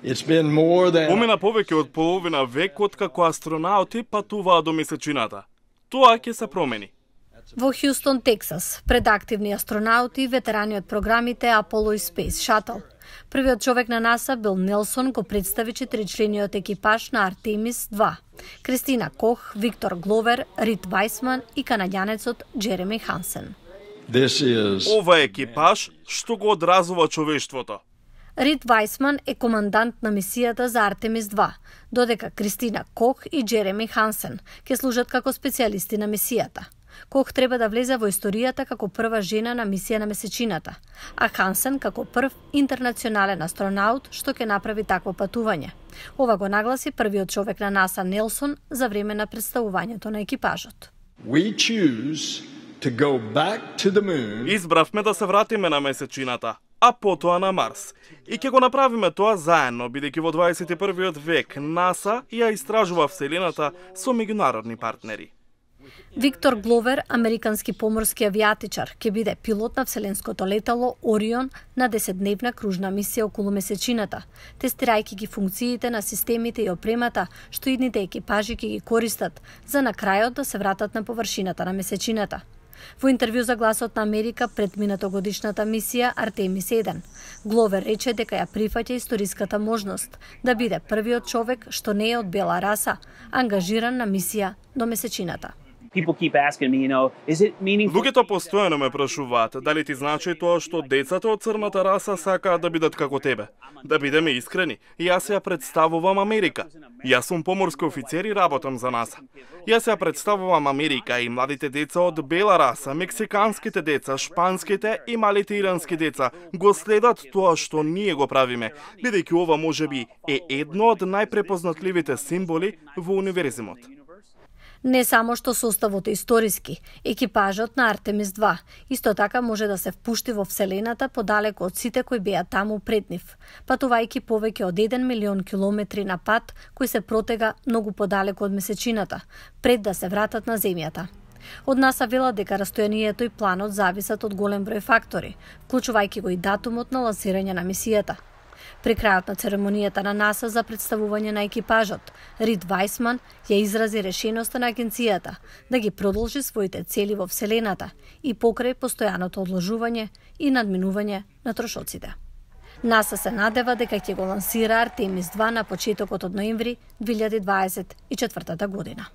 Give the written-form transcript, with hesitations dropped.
Помина повеќе од половина век откако астронаути патуваа до месечината. Тоа ќе се промени. Во Хјустон, Тексас, пред активни астронаути и ветерани од програмите Apollo и Space Shuttle. Првиот човек на НАСА, Бил Нелсон, го представи 4-члениот екипаж на Артемис 2. Кристина Кох, Виктор Гловер, Рид Вајсман и канаѓанецот Джереми Хансен. Ова е екипаж што го одразува човештвото. Рид Вајсман е командант на мисијата за Артемис 2, додека Кристина Кох и Джереми Хансен ќе служат како специјалисти на мисијата. Кох треба да влезе во историјата како прва жена на мисија на месечината, а Хансен како прв интернационален астронаут што ќе направи такво патување. Ова го нагласи првиот човек на НАСА Нелсон за време на представувањето на екипажот. Избравме да се вратиме на месечината, а потоа на Марс. И ќе го направиме тоа заедно, бидејќи во 21 век НАСА ја истражува Вселената со меѓународни партнери. Виктор Гловер, американски поморски авијатичар, ќе биде пилот на вселенското летало Орион на 10-дневна кружна мисија околу месечината, тестирајќи ги функциите на системите и опремата што идните екипажи ќе ги користат за на крајот да се вратат на површината на месечината. Во интервју за Гласот на Америка пред минатогодишната мисија Артемис 1, Гловер рече дека ја прифаќа историската можност да биде првиот човек што не е од бела раса, ангажиран на мисија до месечината. Луѓето постојано ме прашуваат дали ти значи тоа што децата од црната раса сакаат да бидат како тебе. Да бидеме искрени, јас ја представувам Америка. Јас сум поморски офицер и работам за НАСА. Јас ја представувам Америка и младите деца од бела раса, мексиканските деца, шпанските и малите ирански деца го следат тоа што ние го правиме, бидејќи ова можеби е едно од најпрепознатливите символи во универзимот. Не само што составот е историски, екипажот на Артемис 2 исто така може да се впушти во Вселената подалеку од сите кои беа таму пред нив, патувајќи повеќе од 1 милион километри на пат кој се протега многу подалеку од месечината, пред да се вратат на Земјата. Од НАСА велат дека растојанието и планот зависат од голем број фактори, вклучувајќи го и датумот на лансирање на мисијата. При крајот на церемонијата на НАСА за представување на екипажот, Рид Вајсман ја изрази решеноста на агенцијата да ги продолжи своите цели во Вселената и покрај постојаното одложување и надминување на трошоците. НАСА се надева дека ќе го лансира Артемис 2 на почетокот од ноември 2024 година.